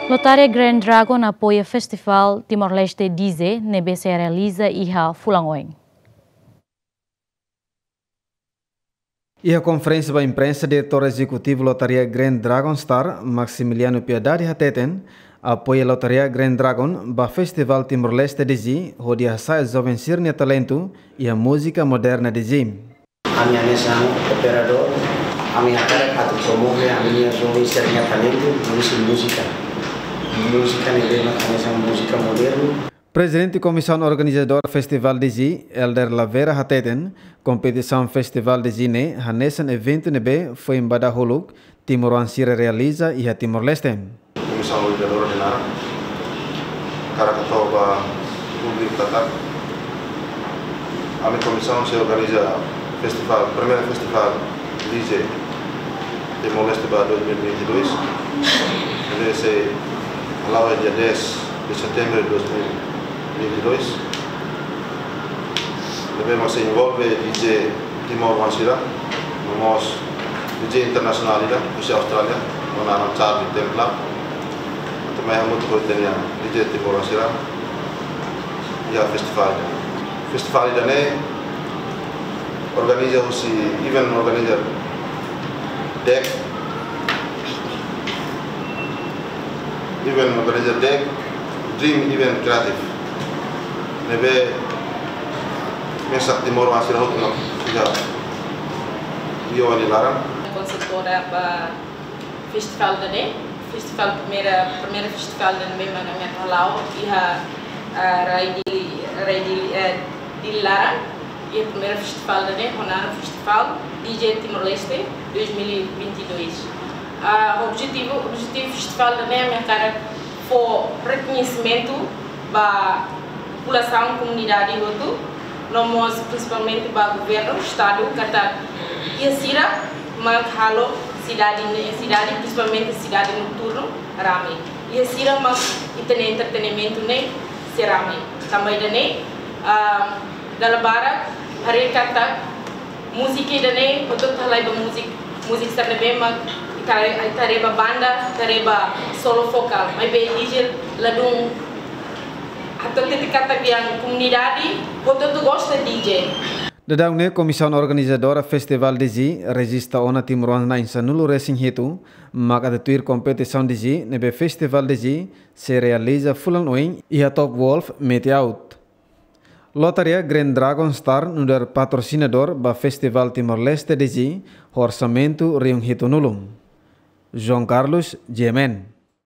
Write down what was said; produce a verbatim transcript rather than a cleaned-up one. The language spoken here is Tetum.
Lotaria Grand Dragon apoia Festival Timor-Leste D J ne'ebé sei realiza iha fulan oin. Iha konferénsia ba imprensa, Diretór Ezekutivu Lotaria Grand Dragon Star, Maximiliano Piedade hateten, apoia Lotaria Grand Dragon ba Festival Timor-Leste D J, hodi hasa'e joven sira-nia talentu iha múzika moderna D J. Ami hanesan operadór, ami hakarak atu promove ami-nia joven sira-nia talentu, husi múzika. Múzika ne'ebé mak hanesan múzika modernu. Prezidente Komisaun Organizadora Festival D J, Elder Lavera hateten, kompetisaun Festival D J ne'e hanesan eventu ne'ebé foin ba dahuluk timoroan sira realiza iha Timor-Leste. Komisaun organizadora nia naran, hakarak hato'o ba públiku katak ami komisaun sei organiza festival, primeira festival D J Timor-Leste ba dois mil e vinte e dois. Ne'ebé sei hala'o iha dia dez de setembro de dois mil e vinte e dois. Ne'ebé mak sei envolve D J timoroan sira, no mós D J internasionál ida, husi Austrália, ho naran Charlie Templar. Atu mai hamutuk ho ita-nia D J timoroan sira iha festival ida. Festival ida-ne'e organiza husi event organizer D E C, event organizer D E C, Dream Event Creative. Ne'ebé mesak timoroan sira hotu no iha Rio nia laran. Konsultora ba festival ida-ne'e, festival primeira, primeira festival ida-ne'e mak ami hala'o iha, ah, rai Dili, rai Dili, eh, Dili laran, iha primeira festival ida-ne'e, ho naran Festival D J Timor-Leste dois mil e vinte e dois. Ah, objetivu, objetivu festival ida-ne'e ami hakarak fó rekoñesimentu ba populasaun, komunidade hotu, no mós prinsipalmente ba governu, estadu, katak iha sira mak halo sidade ne'e, sidade, prinsipalmente sidade noturnu, rame. Iha sira mak ita-nia entretenimentu ne'e sei rame. Tanba ida-ne'e, ah, dala barak haree katak múzika ida-ne'e hotu-hotu halai ba múzika, múzika sira ne'ebé mak ita haree, ita haree ba banda, ita haree ba solo vokál. Maibé D J ladún, atu hatete katak komunidade hotu-hotu gosta D J. Daudaun ne'e, Komisaun Organizadora Festival D J rejista ona timoroan na'in sanulu-resin-hitu mak atu tuir kompetisaun D J ne'ebé Festival D J sei realiza fulan oin iha Top Golf Mete-Aut. Lotaria Grand Dragon Star nu'udar patrosinadór ba Festival Timor-Leste D J, ho orsamentu rihun hitunulu. João Carlos, G M N.